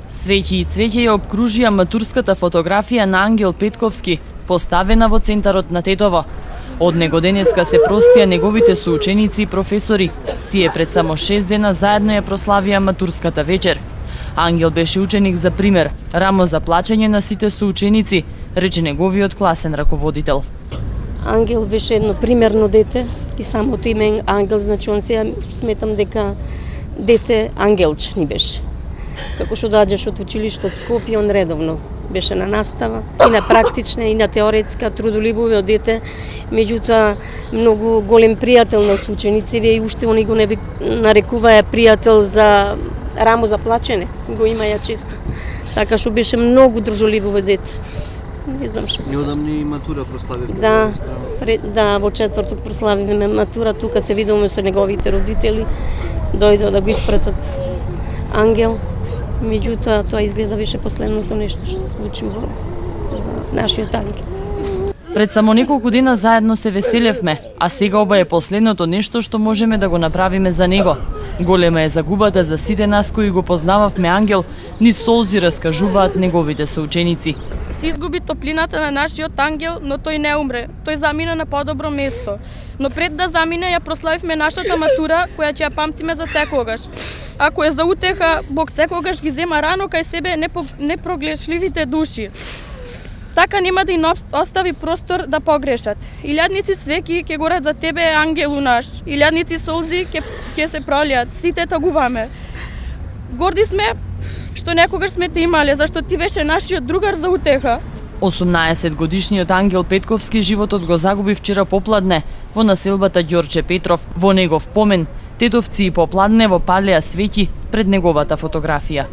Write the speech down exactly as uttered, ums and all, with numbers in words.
Свеќи и цвеќе ја обкружија матурската фотографија на Ангел Петковски, поставена во центарот на Тетово. Од него денеска се простија неговите соученици и професори. Тие пред само шест дена заедно ја прославија матурската вечер. Ангел беше ученик за пример, рамо за плачење на сите соученици, рече неговиот класен раководител. Ангел беше едно примерно дете и самото име Ангел, значи он се сметам дека дете ангелче ни беше. Како што доаѓаш од училиште од Скопје, он редовно беше на настава, и на практична, и на теоретска, трудолюбиве од дете, меѓутоа многу голем пријател на учениците и уште они го не нарекуваа пријател за рамо за плачене, го имаја често. Така што беше многу дружелюбиво дете. Не знам што. Неодамни матура прославивте. Да, пред, да, во четврток прославивме матура, тука се видовме со неговите родители, дојдоа да го испратат Ангел. Меѓутоа, тоа изгледа беше последното нешто што се случи во за нашиот Ангел. Пред само неколку дена заедно се веселевме, а сега ова е последното нешто што можеме да го направиме за него. Голема е загубата за сите нас кои го познававме Ангел, ни солзи раскажуваат неговите соученици. Се изгуби топлината на нашиот Ангел, но тој не умре. Тој замина на подобро место. Но пред да замине ја прославивме нашата матура, која ќе ја памтиме за секогаш. Ако е за утеха, Бог секогаш ги зема рано кај себе непрогледшливите души. Така нема да им остави простор да погрешат. Илјадници свеки ќе горат за тебе, ангелу наш. Илјадници солзи ќе ќе се пролијат. Сите тагуваме. Горди сме што некогаш сме те имале, зашто ти беше нашиот другар за утеха. осумнаесет годишниот Ангел Петковски животот го загуби вчера попладне во населбата Ѓорче Петров. Во негов помен, тетовци и попладне во палеа свеќи пред неговата фотографија.